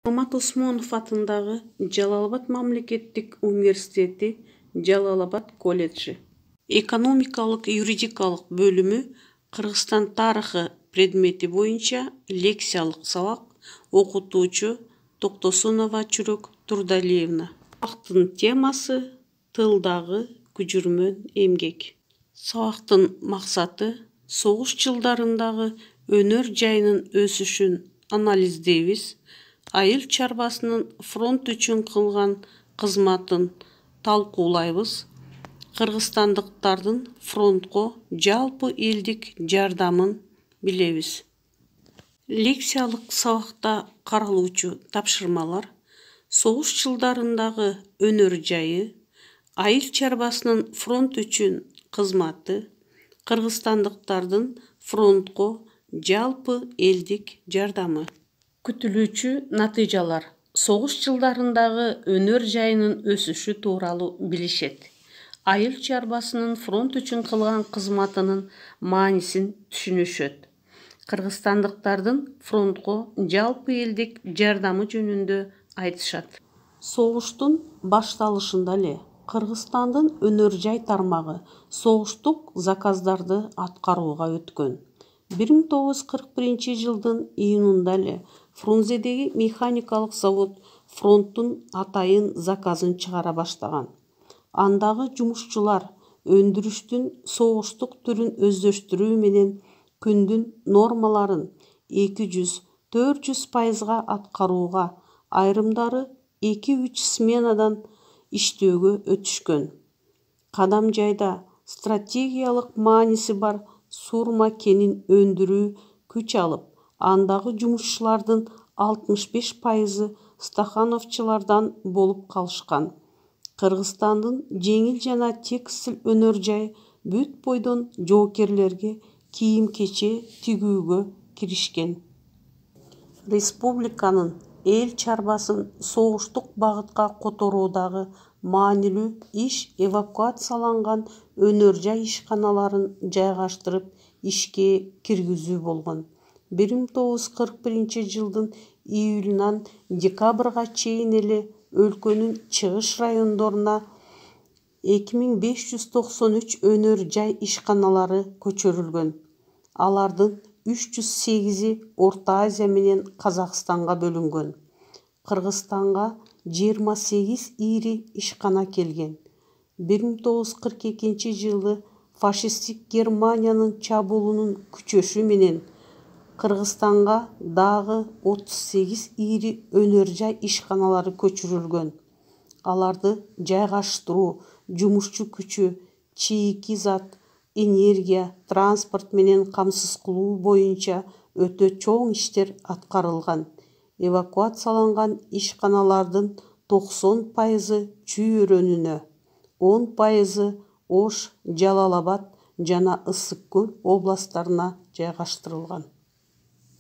Алмат Осмонов атындагы Жалал-Абад мамлекеттик университети, Жалал-Абад колледжи. Экономикалык юридикалык бөлүмү Кыргызстан тарыхы предмети боюнча лекциялык сабак, окутуучу Токтосунова Чүрөк Турдалиевна. Сабактын темасы тылдагы күжүрмөн эмгек. Сабактын максаты согуш жылдарындагы өнөр жайынын өсүшүн анализдейбиз, айыл чарбасынын фронт үчүн кылган кызматын талкуулайбыз, кыргызстандыктардын фронтко жалпы элдик жардамын билебиз. Лекциялык сабакта каралуучу тапшырмалар: согуш жылдарындагы өнөр жайы, айыл чарбасынын фронт үчүн кызматы, кыргызстандыктардын фронтко жалпы элдик жардамы. Күтүлүүчү натыйжалар: согуш жылдарындагы өнөр жайынын өсүшү тууралуу билишет. Айыл чарбасынын фронт үчүн кылган кызматынын маанисин түшүнүшөт. Кыргызстандыктардын фронтко жалпы элдик жардамы жөнүндө айтышат. Согуштун башталышында эле Кыргызстандын өнөр жай тармагы согуштук заказдарды аткарууга өткөн. 1941 жылдын июнунда эле Фрунзедеги механикалык завод фронттун атайын заказын чыгара баштаган. Андагы жумушчулар өндүрүштүн согуштук түрүн өздөштүрүү менен күндүн нормаларын 200–400% аткарууга, айрымдары 2–3 сменадан иштөөгө өтүшкөн. Кадам жайда стратегиялык мааниси бар Сурма кенин өндүрүү күч алып, андагы жумушчулардын 65% стахановчулардан болуп калышкан. Кыргызстандын жеңил жана текстиль өнөр жайы бүт бойдон жоокерлерге кийим-кече тигүүгө киришкен. Республиканын эл чарбасын согуштук багытка которуудагы маанилүү иш эвакуацияланган өнөр жай ишканаларын жайгаштырып ишке киргизүү болгон. 1941 жылдын июлунан декабрга чейин эле өлкөнүн чыгыш райондоруна 2593 өнөр жай ишканалары көчүрүлгөн. Алардын 308-и Орто Азия менен Казакстанга бөлүнгөн. Кыргызстанга 28 ири ишкана келген. 1942 жылы фашисттик Германиянын чабуулунун күчөшү менен Кыргызстанга дагы 38 ири өнөр жай ишканалары көчүрүлгөн. Аларды жайгаштыруу, жумушчу күчү, чийки зат, энергия, транспорт менен камсыз кылуу боюнча өтө чоң иштер аткарылган. Эвакуацияланган ишканалардын 90% Чүй өрөөнүнө, 10% Ош, Жалал-Абад жана Ысык Көл областтарына жайгаштырылган.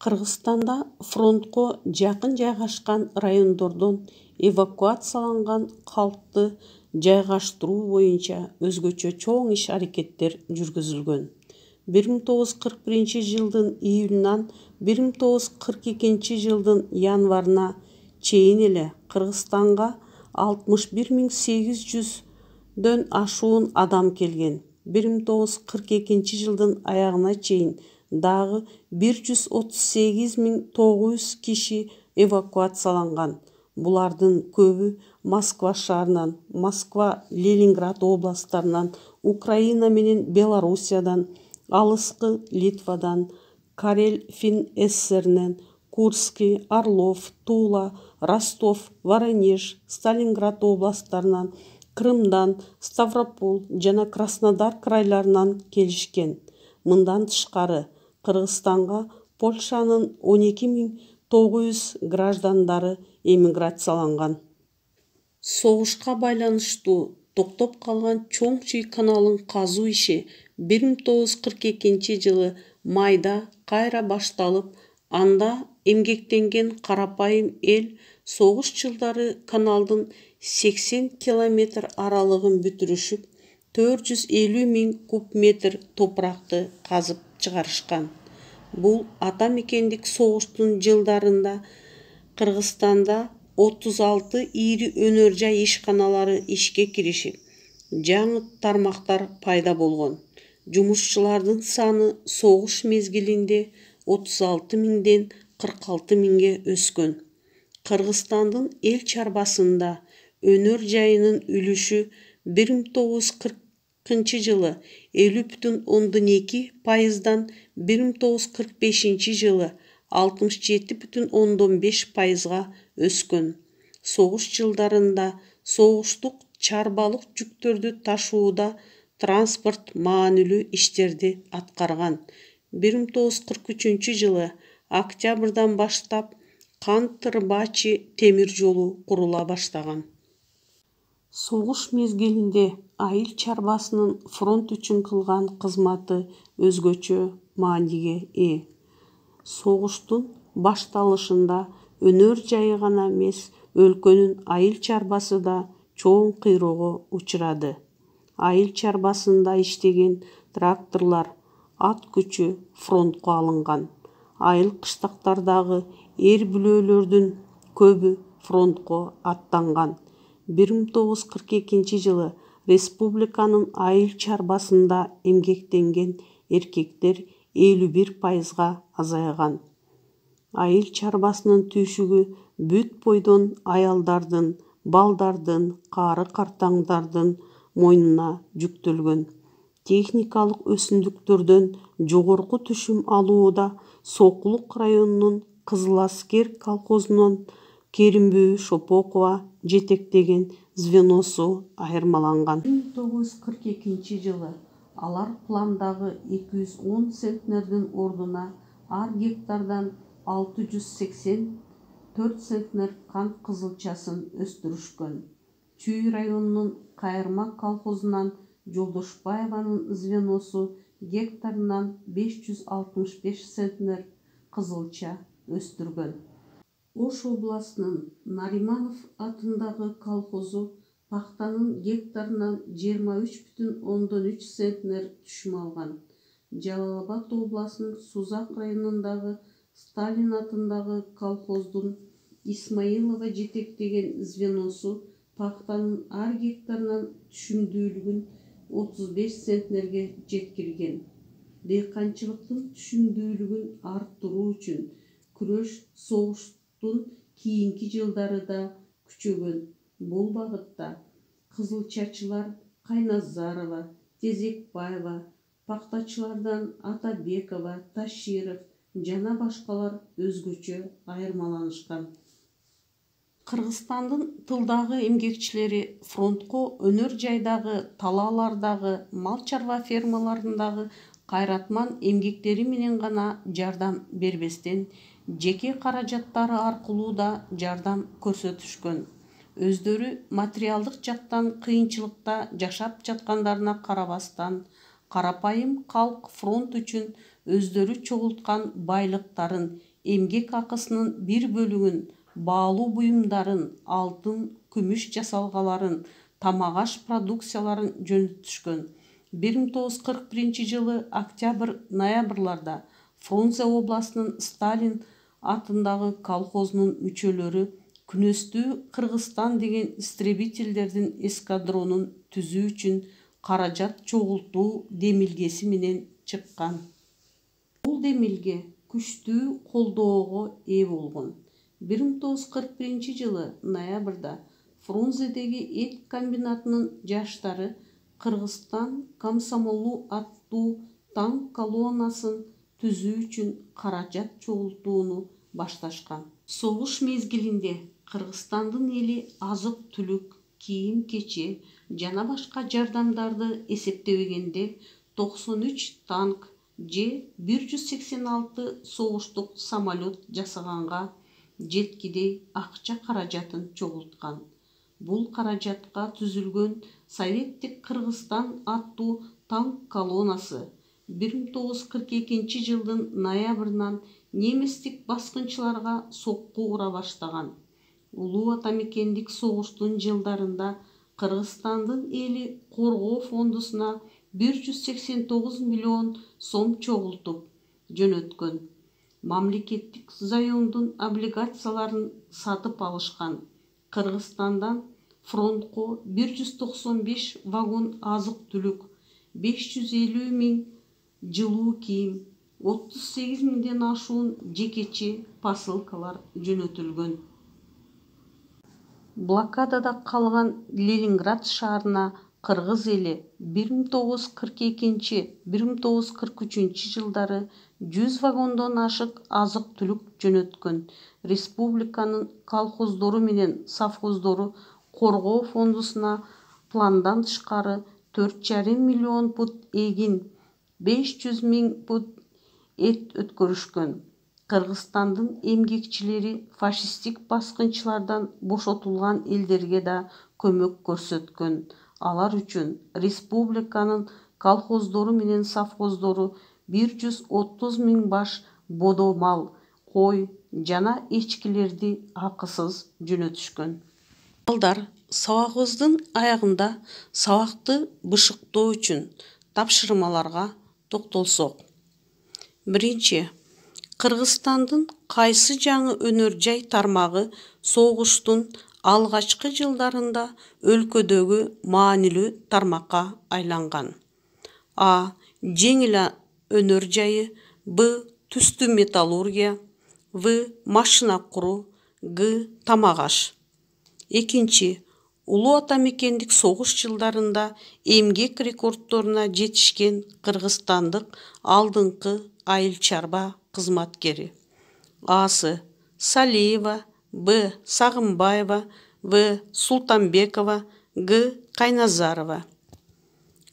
Кыргызстанда фронтко жакын жайгашкан райондордон эвакуацияланган калкты жайгаштыруу боюнча өзгөчө чоң иш-аракеттер жүргүзүлгөн. 1941 жылдын июлунан 1942 жылдын январына чейин эле Кыргызстанга 61.800дөн ашуун адам келген. 1942 жылдын аягына чейин дагы 138.900 киши эвакуацияланган. Булардын көбү Москва шаарынан, Москва, Ленинград областтарынан, Украина менен Белоруссиядан, алыскы Литвадан, Карель Фин ССРнен, Курский, Орлов, Тула, Ростов, Воронеж, Сталинград областтарынан, Крымдан, Ставрополь жана Краснодар крайларынан келишкен. Мындан тышкары Кыргызстанга Польшанын 12.900 граждандары эмиграцияланган. Согушка байланыштуу токтоп калган Чоң Чүй каналын казуу иши 1942 жылы майда кайра башталып, анда эмгектенген карапайым эл согуш жылдары каналдын 80 километр аралыгын бүтүрүшүп, 450.000 куб метр топуракты казып чыгарышкан. Бул ата мекендик согуштун жылдарында Кыргызстанда 36 ири өнөр жай ишканалары ишке киришип, жаңы тармактар пайда болгон. Жумушчулардын саны согуш мезгилинде 36 миңден 46 миңге өскөн. Кыргызстандын эл чарбасында өнөр жайынын үлүшү 1940 жылы 50,2%дан 1945 жылы 67,5%га өскөн. Согуш жылдарында согуштук чарбалык жүктөрдү ташууда транспорт маанилүү иштерди аткарган. 1943 жылы октябрдан баштап Кант-Рыбачи темир жолу курула баштаган. Согуш мезгилинде айыл чарбасынын фронт үчүн кылган кызматы өзгөчө мааниге ээ. Согуштун башталышында өнөр жайы гана эмес, өлкөнүн айыл чарбасы да чоң кыйроого учурады. Айыл чарбасында иштеген тракторлор, ат күчү фронтко алынган. Айыл кыштактардагы эр бүлөлөрдүн көбү фронтко аттанган. 1942 жылы республиканын айыл чарбасында эмгектенген эркектер 51%га азайган. Айыл чарбасынын түйшүгү бүт бойдон аялдардын, балдардын, кары-картаңдардын мойнуна жүктөлгөн. Техникалык өсүмдүктөрдөн жогорку түшүм алууда Сокулук районунун Кызыл Аскер колхозунун Керимбүбү Шопокова жетектеген звеносу айырмаланган. 1942 жылы алар пландагы 210 центнердин ордуна ар гектардан 684 центнер кант кызылчасын өстүрүшкөн. Чүй районунун Кайырма колхозунан Жолдошбаеванын звеносу гектарынан 565 центнер кызылча өстүргөн. Ош областынын Нариманов атындагы колхозу пахтанын гектарынан 23,3 центнер түшүм алган. Жалал Абад областынын Сузак районундагы Сталин атындагы колхоздун Исмаилова жетектеген звеносу пахтанын ар гектарынан түшүмдүүлүгүн 35 центнерге жеткирген. Дыйканчылыктын түшүмдүүлүгүн арттыруу үчүн күрөш согуштун кийинки жылдары да күчөгөн. Бул багытта кызылчачылар Кайназарова, Тезекбаева, пахтачылардан Атабекова, Таширов жана башкалар өзгөчө айырмаланышкан. Кыргызстандын тылдагы эмгекчилери фронтко өнөр жайдагы, талаалардагы, мал чарба фермаларындагы кайратман эмгектери менен гана жардам бербестен, жеке каражаттары аркылуу да жардам көрсөтүшкөн. Өздөрү материалдык жактан кыйынчылыкта жашап жаткандарына карабастан, карапайым калк фронт үчүн өздөрү чогулткан байлыктарын, эмгек акысынын бир бөлүгүн, баалуу буюмдарын, алтын, күмүш жасалгаларын, тамак-аш продукцияларын жөнөтүшкөн. 1941 жылы октябрь-ноябрларда Фрунзе областынын Сталин атындагы колхозунун мүчөлөрү күнөстүү Кыргызстан деген истребительдердин эскадронун түзүү үчүн каражат чогултуу демилгеси менен чыккан. Бул демилге күчтүү колдоого ээ болгон. 1941 жылы ноябрда Фрунзедеги эт комбинатынын жаштары Кыргызстан комсомолу аттуу танк колоннасын түзүү үчүн каражат чогултууну башташкан. Согуш мезгилинде Кыргызстандын эли азык-түлүк, кийим-кече жана башка жардамдарды эсептебегенде 93 танк же 186 согуштук самолет жасаганга жеткидей акча каражатын чогулткан. Бул каражатка түзүлгөн Советтик Кыргызстан аттуу танк колоннасы 1942 жылдын ноябрынан немистик баскынчыларга сокку ура баштаган. Улуу атамекендик согуштун жылдарында Кыргызстандын эли коргоо фондусуна 189 миллион сом чогултуп жөнөткөн. мамлекеттик заемдун облигацияларын сатып алышкан. Кыргызстандан фронтко 195 вагон азык-түлүк, 550 000 жылуу кийим, 38 000ден ашуун жекече посылкалар жөнөтүлгөн. Блокадада калган Ленинград шаарына кыргыз эли 1942-1943 жылдары 100 вагондон ашык азык-түлүк жөнөткөн. Республиканын колхоздору менен совхоздору коргоо фондусуна пландан тышкары 4,5 миллион пут эгин, 500 000 пут эт өткөрүшкөн. Кыргызстандын эмгекчилери фашисттик баскынчылардан бошотулган элдерге да көмөк көрсөткөн. Алар үчүн республиканын колхоздору менен совхоздору 130 000 баш бодо мал, кой жана эчкилерди акысыз жөнөтүшкөн. Балдар, сабагыбыздын аягында сабакты бышыктоо үчүн тапшырмаларга токтолсок. Биринчи, Кыргызстандын кайсы жаңы өнөр жай тармагы согуштун алгачкы жылдарында өлкөдөгү маанилүү тармакка айланган? А. Жеңил өнөр жайы. Б. Түстүү металлургия. В. Машина куруу. Г. Тамак аш. Экинчи, улуу ата мекендик согуш жылдарында эмгек рекордторуна жетишкен кыргызстандык алдыңкы айыл чарба кызматкери. Асы. Салиева. Б. Сагынбаева. В. Султанбекова. Г. Кайназарова.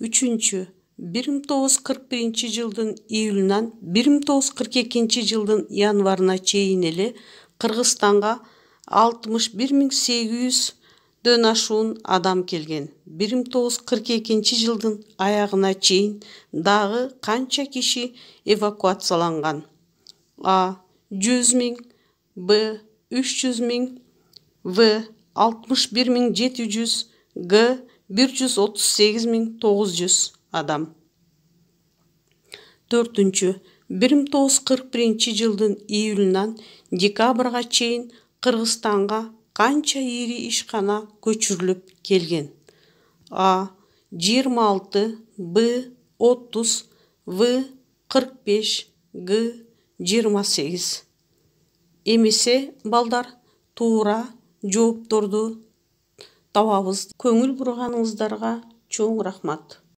Үчүнчү, 1941 жылдын июлунан 1942 жылдын январына чейин эле Кыргызстанга 61 800дөн ашуун адам келген. 1942 жылдын аягына чейин дагы канча киши эвакуацияланган? А. 100 000. Б. 300 000. В. 61 700. Г. 138 900 адам. Төртүнчү, 1941 жылдын июлунан декабрга чейин Кыргызстанга канча ири ишкана көчүрүлүп келген? А. 26. Б. 30. В. 45. Г. 28. Эмесе балдар, туура жоопторду табабыз. Көңүл бурганыңыздарга чоң рахмат.